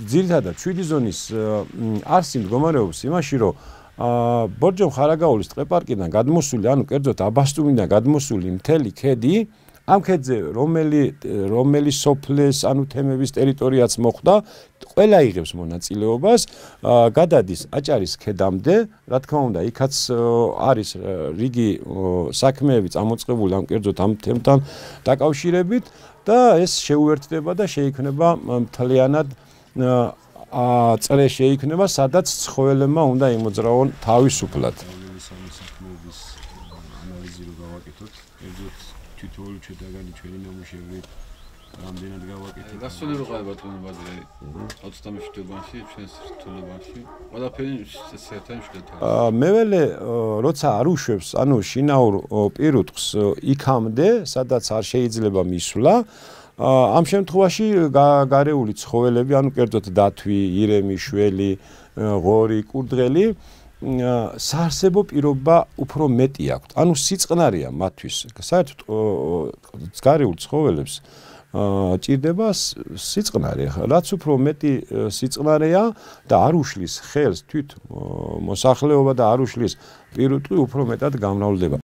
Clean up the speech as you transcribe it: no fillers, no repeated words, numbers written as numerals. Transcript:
ძირითადად 7 ზონის არსი მდგომარეობს იმაში, რომ ბორჯომ ხარაგაულის ტყეპარკიდან გადმოსული, ანუ კერძოდ აბასტუმიდან გადმოსული მთელი ქედი, ამ ქედზე რომელი სოფლეს, ანუ თემების ტერიტორიაც მოხვდა, ყველა იღებს მონაწილეობას, გადადის აჭარის ქედამდე, რა თქმა უნდა, იქაც არის რიგი საქმეები წამოწყებული ამ კერძოდ ამ თემთან დაკავშირებით და ეს შეუერთდება და შეიქმნება მთლიანად წრე შეიქმნება, სადაც ცხოველებმა უნდა იმოძრავონ თავისუფლად. თითოეული შედაგანი ჩვენი ნამუშევრი რამდენად გავაკეთეთ. გასული რო ყავ ბატონო ბაზრე 27 თვეში ჩვენს რთულებაში. ყველაფერი საერთოდ შედათა. მეველე როცა არ უშვებს, ანუ შინაურ პირუტყვს იქამდე, სადაც არ შეიძლება მისვლა, ამ შემთხვევაში გარეული ცხოველები, ანუ კერძოდ დათვი, ირემი, შველი, ღორი, კურდღელი საარსებო პირობა უფრო მეტი აქვთ. ანუ სიწყნარია მათთვის. საერთოდ გარეულ ცხოველებს ჭირდება სიწყნარე. რაც უფრო მეტი სიწყნარეა და არ უშლის ხელს თვით მოსახლეობა და არ უშლის პირუტყვი უფრო მეტად გამრავლდება.